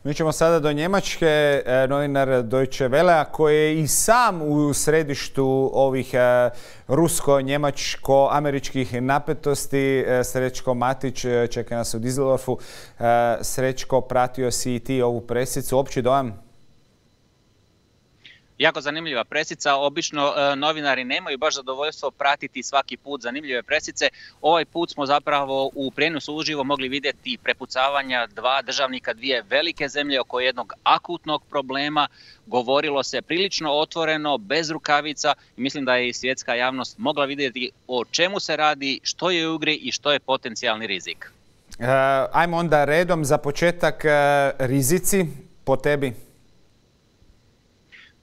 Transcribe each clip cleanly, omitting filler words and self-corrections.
Mi ćemo sada do Njemačke, novinar Deutsche Wellea koji je i sam u središtu ovih rusko-njemačko-američkih napetosti. Srećko Matić čeka nas u Düsseldorfu. Srećko, pratio si i ti ovu presicu. Opći dojam? Jako zanimljiva presica. Obično novinari nemaju baš zadovoljstvo pratiti svaki put zanimljive presice. Ovaj put smo zapravo u prijenosu uživo mogli vidjeti prepucavanja dva državnika dvije velike zemlje oko jednog akutnog problema. Govorilo se prilično otvoreno, bez rukavica i mislim da je i svjetska javnost mogla vidjeti o čemu se radi, što je u igri i što je potencijalni rizik. Ajmo onda redom za početak rizici po tebi.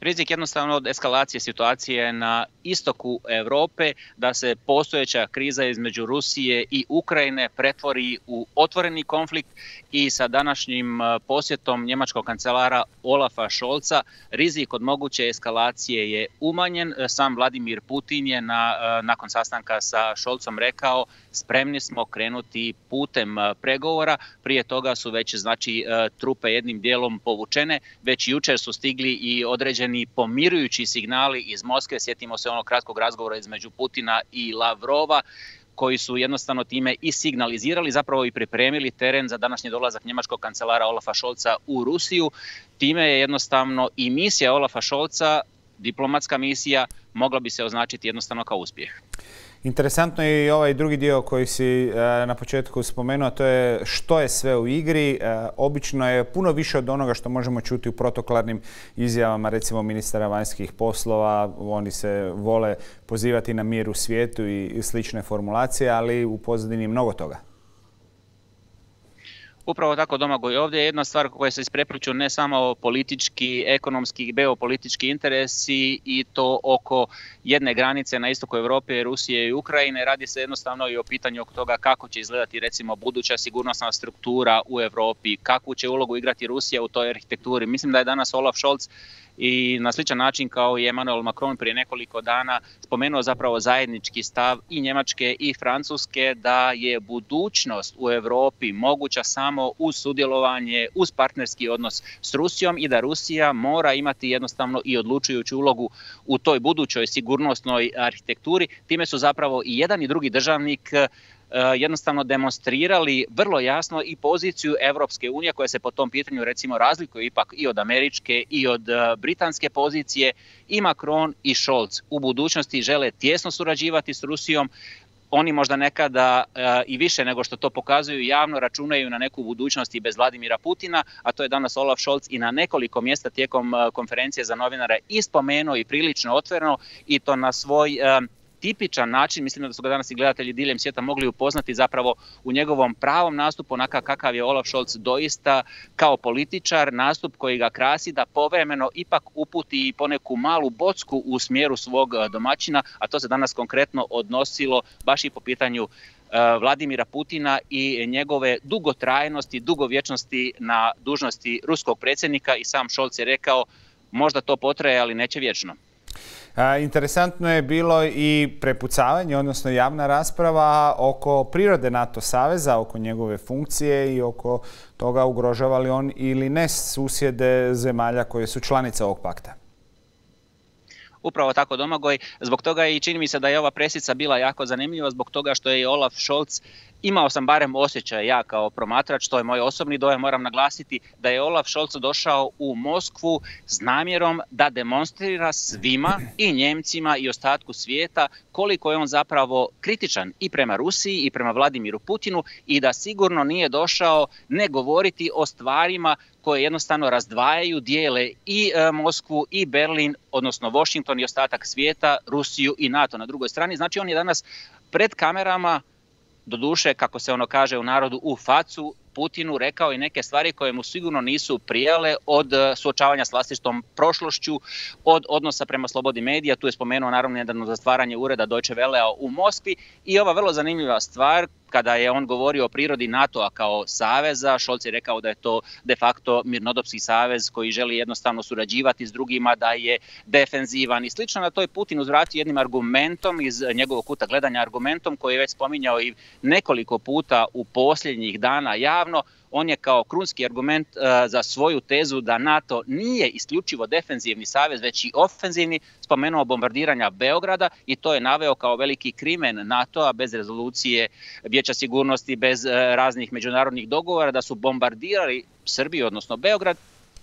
Rizik jednostavno od eskalacije situacije na istoku Europe, da se postojeća kriza između Rusije i Ukrajine pretvori u otvoreni konflikt i sa današnjim posjetom njemačkog kancelara Olafa Scholza rizik od moguće eskalacije je umanjen. Sam Vladimir Putin je nakon sastanka sa Scholzom rekao spremni smo krenuti putem pregovora. Prije toga su već trupe jednim dijelom povučene. Već jučer su stigli i određeni pomirujući signali iz Moskve. Sjetimo se onog kratkog razgovora između Putina i Lavrova koji su jednostavno time i signalizirali, zapravo i pripremili teren za današnji dolazak njemačkog kancelara Olafa Scholza u Rusiju. Time je jednostavno i misija Olafa Scholza, diplomatska misija, mogla bi se označiti jednostavno kao uspjeh. Interesantno je i ovaj drugi dio koji si na početku spomenuo, to je što je sve u igri. Obično je puno više od onoga što možemo čuti u protokolarnim izjavama, recimo ministara vanjskih poslova. Oni se vole pozivati na mir u svijetu i slične formulacije, ali u pozadini mnogo toga. Upravo tako, Domagoj. Ovdje je jedna stvar koja se isprepliću ne samo politički, ekonomski i geopolitički interesi i to oko jedne granice na istoku Europe, Rusije i Ukrajine. Radi se jednostavno i o pitanju oko toga kako će izgledati recimo buduća sigurnosna struktura u Europi, kakvu će ulogu igrati Rusija u toj arhitekturi. Mislim da je danas Olaf Scholz i na sličan način kao i Emmanuel Macron prije nekoliko dana spomenuo zapravo zajednički stav i Njemačke i Francuske da je budućnost u Europi moguća samo uz sudjelovanje, uz partnerski odnos s Rusijom i da Rusija mora imati jednostavno i odlučujuću ulogu u toj budućoj sigurnosnoj arhitekturi. Time su zapravo i jedan i drugi državnik jednostavno demonstrirali vrlo jasno i poziciju Europske unije koja se po tom pitanju recimo razlikuje ipak i od američke i od britanske pozicije. I Macron i Scholz u budućnosti žele tijesno surađivati s Rusijom. Oni možda nekada i više nego što to pokazuju javno računaju na neku budućnost i bez Vladimira Putina, a to je danas Olaf Scholz i na nekoliko mjesta tijekom konferencije za novinare i spomenuo i prilično otvoreno i to na svoj tipičan način. Mislim da su ga danas i gledatelji diljem svijeta mogli upoznati zapravo u njegovom pravom nastupu, onakav kakav je Olaf Scholz doista kao političar, nastup koji ga krasi da povremeno ipak uputi i poneku malu bocku u smjeru svog domaćina, a to se danas konkretno odnosilo baš i po pitanju Vladimira Putina i njegove dugotrajnosti, dugovječnosti na dužnosti ruskog predsjednika i sam Scholz je rekao možda to potraje, ali neće vječno. Interesantno je bilo i prepucavanje, odnosno javna rasprava oko prirode NATO saveza, oko njegove funkcije i oko toga ugrožava li on ili ne susjede zemalja koje su članice ovog pakta. Upravo tako, Domagoj. Zbog toga i čini mi se da je ova presica bila jako zanimljiva, zbog toga što je Olaf Scholz, imao sam barem osjećaj ja kao promatrač, to je moj osobni dojam, moram naglasiti da je Olaf Scholz došao u Moskvu s namjerom da demonstrira svima i Njemcima i ostatku svijeta koliko je on zapravo kritičan i prema Rusiji i prema Vladimiru Putinu i da sigurno nije došao ne govoriti o stvarima koje jednostavno razdvajaju, dijele i Moskvu i Berlin, odnosno Washington i ostatak svijeta, Rusiju i NATO na drugoj strani. Znači on je danas pred kamerama, doduše, kako se ono kaže u narodu, u facu Putinu rekao i neke stvari koje mu sigurno nisu prijale, od suočavanja s vlastitom prošlošću, od odnosa prema slobodi medija. Tu je spomenuo naravno nedavno zatvaranje ureda Deutsche Wellea u Moskvi i ova vrlo zanimljiva stvar kada je on govorio o prirodi NATO-a kao saveza. Scholz je rekao da je to de facto mirnodopski savez koji želi jednostavno surađivati s drugima, da je defenzivan i slično. Na to je Putin uzvratio jednim argumentom iz njegovog kuta gledanja, argumentom koji je već spominjao i nekoliko puta u posljednjih dana javno. on je kao krunski argument za svoju tezu da NATO nije isključivo defenzivni savez, već i ofenzivni, spomenuo bombardiranja Beograda i to je naveo kao veliki krimen NATO-a bez rezolucije Vijeća sigurnosti, bez raznih međunarodnih dogovora, da su bombardirali Srbiju, odnosno Beograd,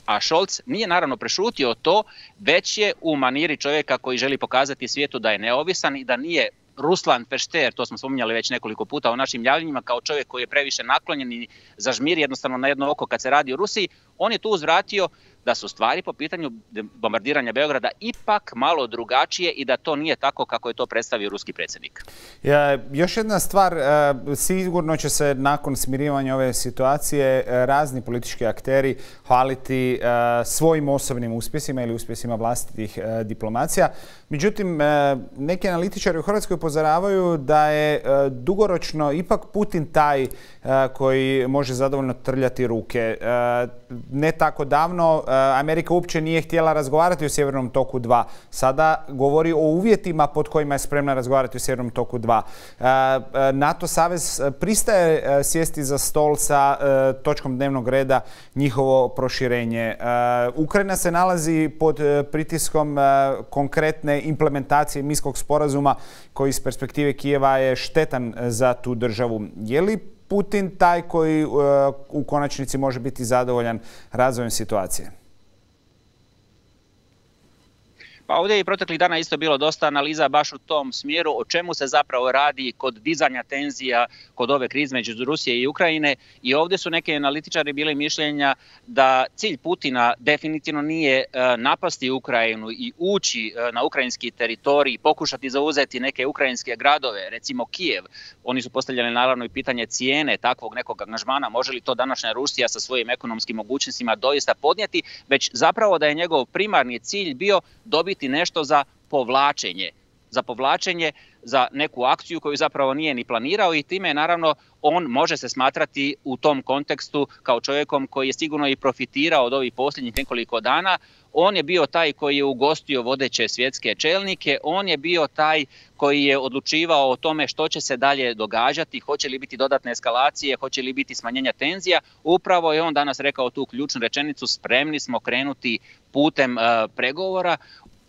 a Scholz nije naravno prešutio to, već je u maniri čovjeka koji želi pokazati svijetu da je neovisan i da nije Ruslan Pešter, to smo spominjali već nekoliko puta u našim javljanjima, kao čovjek koji je previše naklonjen i zažmiri jednostavno na jedno oko kad se radi o Rusiji, on je tu uzvratio da su stvari po pitanju bombardiranja Beograda ipak malo drugačije i da to nije tako kako je to predstavio ruski predsjednik. Još jedna stvar, sigurno će se nakon smirivanja ove situacije razni politički akteri hvaliti svojim osobnim uspjesima ili uspjesima vlastitih diplomacija. Međutim, neki analitičari u Hrvatskoj upozoravaju da je dugoročno ipak Putin taj koji može zadovoljno trljati ruke. Ne tako davno Amerika uopće nije htjela razgovarati o Sjevernom toku 2. Sada govori o uvjetima pod kojima je spremna razgovarati o Sjevernom toku 2. NATO savez pristaje sjesti za stol sa točkom dnevnog reda njihovo proširenje. Ukrajina se nalazi pod pritiskom konkretne implementacije Minskog sporazuma koji iz perspektive Kijeva je štetan za tu državu. Je li Putin taj koji u konačnici može biti zadovoljan razvojem situacije? Pa ovdje je i proteklih dana isto bilo dosta analiza baš u tom smjeru o čemu se zapravo radi kod dizanja tenzija kod ove krize među Rusije i Ukrajine i ovdje su neki analitičari bili mišljenja da cilj Putina definitivno nije napasti Ukrajinu i ući na ukrajinski teritorij, pokušati zauzeti neke ukrajinske gradove, recimo Kijev. Oni su postavljali naravno i pitanje cijene takvog nekog angažmana, može li to današnja Rusija sa svojim ekonomskim mogućnostima doista podnijeti, već zapravo da je njegov primarni cilj bio dobiti nešto za povlačenje, za neku akciju koju zapravo nije ni planirao i time naravno on može se smatrati u tom kontekstu kao čovjekom koji je sigurno i profitirao od ovih posljednjih nekoliko dana. On je bio taj koji je ugostio vodeće svjetske čelnike, on je bio taj koji je odlučivao o tome što će se dalje događati, hoće li biti dodatne eskalacije, hoće li biti smanjenja tenzija. Upravo je on danas rekao tu ključnu rečenicu, spremni smo krenuti putem pregovora.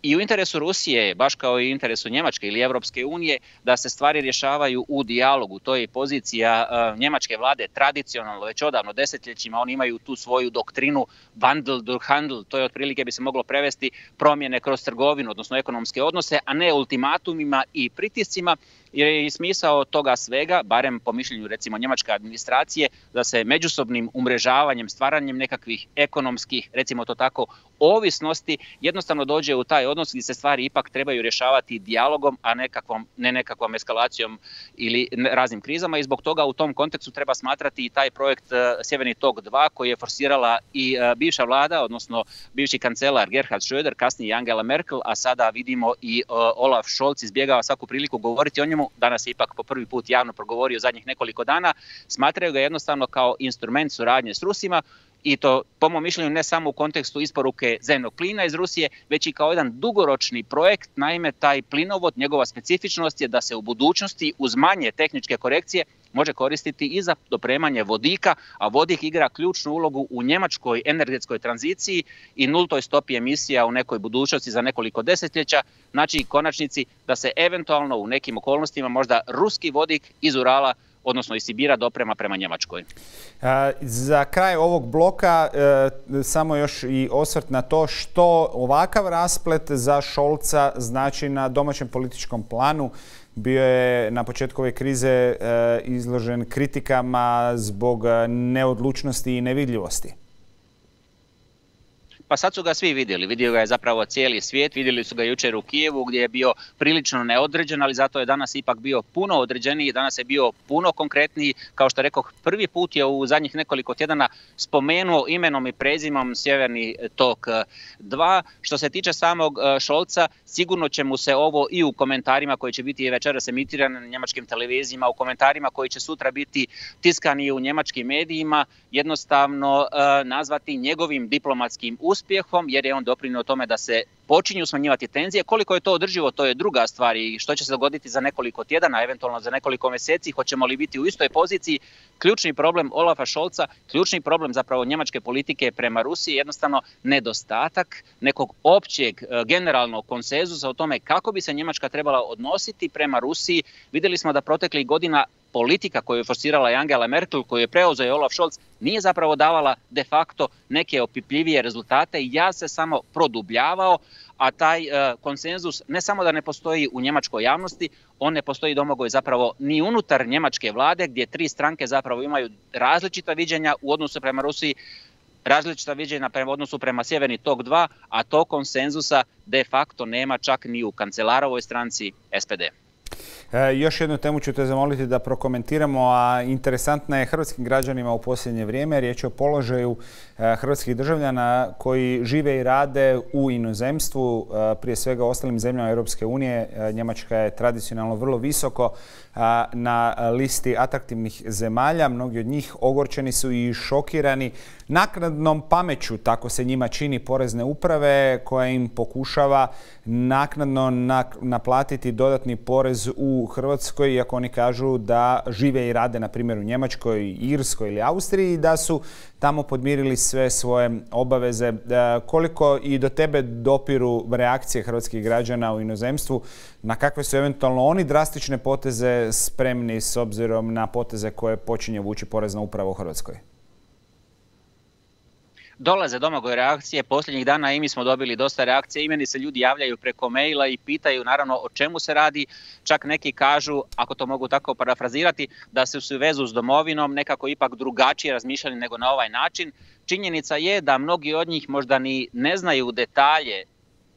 I u interesu Rusije, baš kao i u interesu Njemačke ili Europske unije, da se stvari rješavaju u dijalogu. To je pozicija njemačke vlade tradicionalno, već odavno desetljećima. Oni imaju tu svoju doktrinu Wandel durch Handel, to je otprilike bi se moglo prevesti promjene kroz trgovinu, odnosno ekonomske odnose, a ne ultimatumima i pritiscima. Jer je i smisao toga svega, barem po mišljenju recimo njemačke administracije, da se međusobnim umrežavanjem, stvaranjem nekakvih ekonomskih, recimo to tako, ovisnosti, jednostavno dođe u taj odnos gdje se stvari ipak trebaju rješavati dijalogom, a ne nekakvom eskalacijom ili raznim krizama i zbog toga u tom kontekstu treba smatrati i taj projekt Sjeverni tok 2 koji je forsirala i bivša vlada, odnosno bivši kancelar Gerhard Schröder, kasnije Angela Merkel, a sada vidimo i Olaf Scholz izbjegava svaku priliku govoriti o njemu. Danas je ipak po prvi put javno progovorio zadnjih nekoliko dana, smatraju ga jednostavno kao instrument suradnje s Rusima i to po mom mišljenju ne samo u kontekstu isporuke zemnog plina iz Rusije, već i kao jedan dugoročni projekt. Naime, taj plinovod, njegova specifičnost je da se u budućnosti uz manje tehničke korekcije može koristiti i za dopremanje vodika, a vodik igra ključnu ulogu u njemačkoj energetskoj tranziciji i nultoj stopi emisija u nekoj budućnosti za nekoliko desetljeća. Znači, konačnici da se eventualno u nekim okolnostima možda ruski vodik iz Urala, odnosno iz Sibira, doprema prema Njemačkoj. Za kraj ovog bloka samo još i osvrt na to što ovakav rasplet za Scholza znači na domaćem političkom planu. Bio je na početku ove krize izložen kritikama zbog neodlučnosti i nevidljivosti. Pa sad su ga svi vidjeli. Vidio ga je zapravo cijeli svijet, vidjeli su ga jučer u Kijevu gdje je bio prilično neodređen, ali zato je danas ipak bio puno određeniji, danas je bio puno konkretniji. Kao što rekoh, prvi put je u zadnjih nekoliko tjedana spomenuo imenom i prezimom Sjeverni tok 2. Što se tiče samog Scholza, sigurno će mu se ovo i u komentarima koji će biti večeras emitirani na njemačkim televizijama, u komentarima koji će sutra biti tiskani u njemačkim medijima, jednostavno nazvati njegovim diplomatskim uspjehom uspjehom jer je on doprinio tome da se počinju smanjivati tenzije. Koliko je to održivo, to je druga stvar i što će se dogoditi za nekoliko tjedana, eventualno za nekoliko mjeseci, hoćemo li biti u istoj poziciji. Ključni problem Olafa Scholza, ključni problem zapravo njemačke politike prema Rusiji je jednostavno nedostatak nekog općeg generalnog konsenzusa o tome kako bi se Njemačka trebala odnositi prema Rusiji. Vidjeli smo da proteklih godina politika koju je forsirala Angela Merkel, koju je preuzeo Olaf Scholz, nije zapravo davala de facto neke opipljivije rezultate i ja se samo produbljavao, a taj konsenzus ne samo da ne postoji u njemačkoj javnosti, on ne postoji, Domagoj, zapravo ni unutar njemačke vlade gdje tri stranke zapravo imaju različita viđenja u odnosu prema Rusiji, različita viđenja prema odnosu prema Sjeverni tok 2, a to konsenzusa de facto nema čak ni u kancelarovoj stranci SPD. Još jednu temu ću te zamoliti da prokomentiramo, a interesantna je hrvatskim građanima u posljednje vrijeme. Riječ je o položaju hrvatskih državljana koji žive i rade u inozemstvu, prije svega u ostalim zemljama Europske unije. Njemačka je tradicionalno vrlo visoko na listi atraktivnih zemalja. Mnogi od njih ogorčeni su i šokirani naknadnom pameću, tako se njima čini, porezne uprave koja im pokušava naknadno naplatiti dodatni porez u Hrvatskoj, iako oni kažu da žive i rade na primjer u Njemačkoj, Irskoj ili Austriji i da su tamo podmirili sve svoje obaveze. Koliko i do tebe dopiru reakcije hrvatskih građana u inozemstvu, na kakve su eventualno oni drastične poteze spremni s obzirom na poteze koje počinje vući porezna uprava u Hrvatskoj? Dolaze, Domagoj, reakcije. Posljednjih dana i mi smo dobili dosta reakcije. I meni se ljudi javljaju preko maila i pitaju naravno o čemu se radi. Čak neki kažu, ako to mogu tako parafrazirati, da su se u vezu s domovinom nekako ipak drugačije razmišljali nego na ovaj način. Činjenica je da mnogi od njih možda ni ne znaju detalje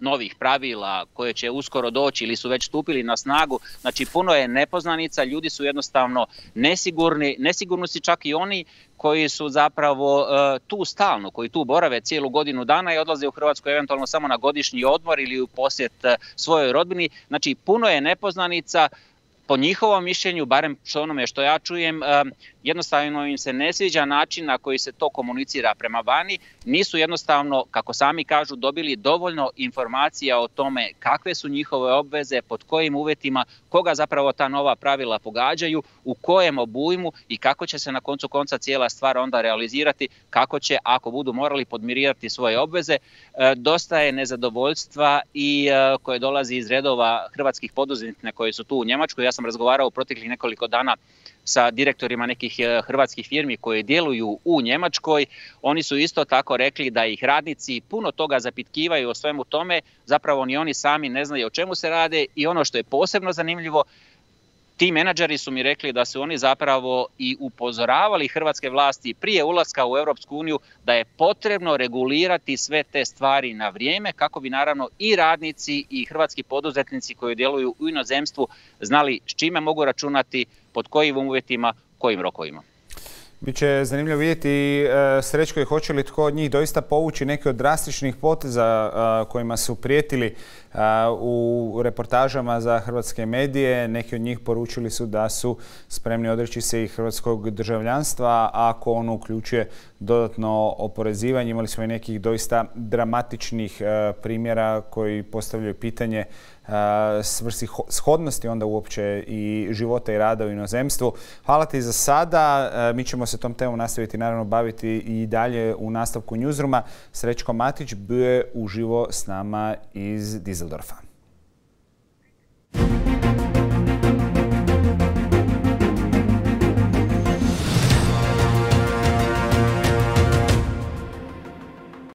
novih pravila koje će uskoro doći ili su već stupili na snagu. Znači, puno je nepoznanica, ljudi su jednostavno nesigurni. Nesigurni su čak i oni koji su zapravo tu stalno, koji tu borave cijelu godinu dana i odlaze u Hrvatsku eventualno samo na godišnji odmor ili u posjet svojoj rodbini. Znači, puno je nepoznanica. Po njihovom mišljenju, barem što onome što ja čujem, jednostavno im se ne sviđa način na koji se to komunicira prema vani. Nisu jednostavno, kako sami kažu, dobili dovoljno informacija o tome kakve su njihove obveze, pod kojim uvjetima, koga zapravo ta nova pravila pogađaju, u kojem obujmu i kako će se na koncu konca cijela stvar onda realizirati, kako će, ako budu morali podmirivati svoje obveze. Dosta je nezadovoljstva i koje dolazi iz redova hrvatskih poduzetnika koji su tu u Njemačkoj. Ja sam razgovarao u proteklih nekoliko dana sa direktorima nekih hrvatskih firmi koje djeluju u Njemačkoj. Oni su isto tako rekli da ih radnici puno toga zapitkivaju o svemu tome. Zapravo ni oni sami ne znaju o čemu se rade i ono što je posebno zanimljivo, ti menadžeri su mi rekli da su oni zapravo i upozoravali hrvatske vlasti prije ulaska u Europsku uniju da je potrebno regulirati sve te stvari na vrijeme kako bi naravno i radnici i hrvatski poduzetnici koji djeluju u inozemstvu znali s čime mogu računati, pod kojim uvjetima, kojim rokovima. Biće zanimljivo vidjeti, Srećko, i hoće li tko od njih doista povući neke od drastičnih poteza kojima su prijetili u reportažama za hrvatske medije. Neki od njih poručili su da su spremni odreći se i hrvatskog državljanstva ako ono uključuje dodatno oporezivanje. Imali smo i nekih doista dramatičnih primjera koji postavljaju pitanje svrsishodnosti onda uopće i života i rada u inozemstvu. Hvala ti za sada. Mi ćemo se tom temom nastaviti naravno baviti i dalje u nastavku Newsrooma. Srećko Matić bio je uživo s nama iz Düsseldorfa.